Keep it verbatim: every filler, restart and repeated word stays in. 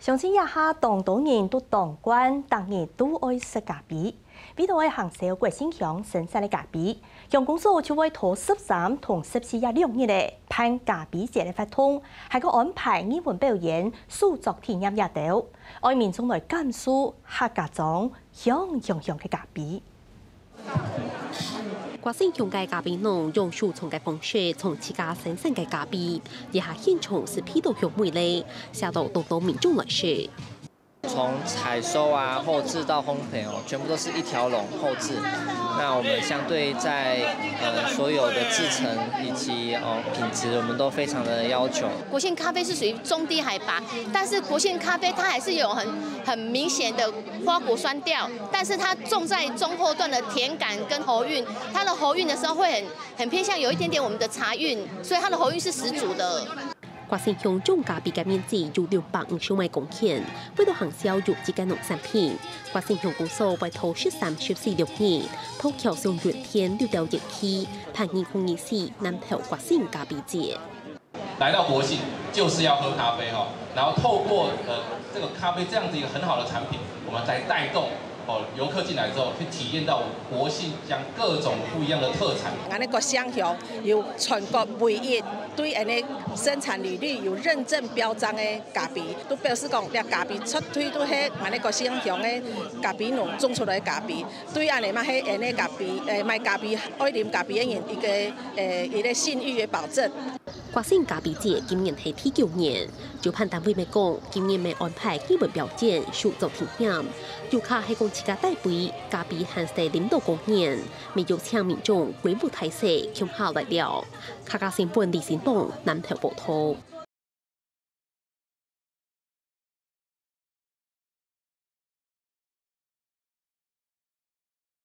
相信這下當多人都當慣，逐日都愛食咖啡。為著愛行銷國姓鄉生產个咖啡，鄉公所就會拖十三同十四這兩日个辦咖啡節个活動，還過安排藝文表演、手作體驗這兜，愛民眾來感受客家庄香香香个咖啡。 國姓鄉个咖啡農用手沖个方式沖自家生產个咖啡，這下現場係鼻著香味咧，吸到當多民眾來食。從採收啊、後製到烘焙哦，全部都是一條龍後製。那我們相對在呃所有的製程以及哦品質，我們都非常的要求。國姓咖啡是屬於中低海拔，但是國姓咖啡它還是有很很明顯的花果酸調，但是它種在中后段的甜感跟喉韻，它的喉韻的時候會很很偏向有一點點我們的茶韻，所以它的喉韻是十足的。 國姓鄉種咖啡个面積有六百五十萬公頃，為著行銷有機个農產品，國姓鄉公所會拖十三、十四六日，到橋上原田綠調園區，辦二零二四南投國姓咖啡節。來到國姓就是要喝咖啡哈，然後透過呃這個咖啡這樣子一個很好的產品，我們來帶動哦遊客進來之後，去體驗到國姓鄉各種不一樣的特產。𠊎等國姓鄉有全國唯一對𠊎等生產履歷有認證標章的咖啡，都表示講這咖啡絕對都係𠊎等國姓鄉的咖啡農種出來的咖啡。對恁樣嘛，係𠊎等咖啡，誒賣咖啡、愛啉咖啡的人一個誒一個信譽的保證。 國姓咖啡節今年係第九年，主辦單位乜講，今年乜安排藝文表演、手作體驗，遊客係講自家帶杯咖啡還係啉到過年，乜邀請民眾規屋大細共下來尞。客家新聞李新東南投報導。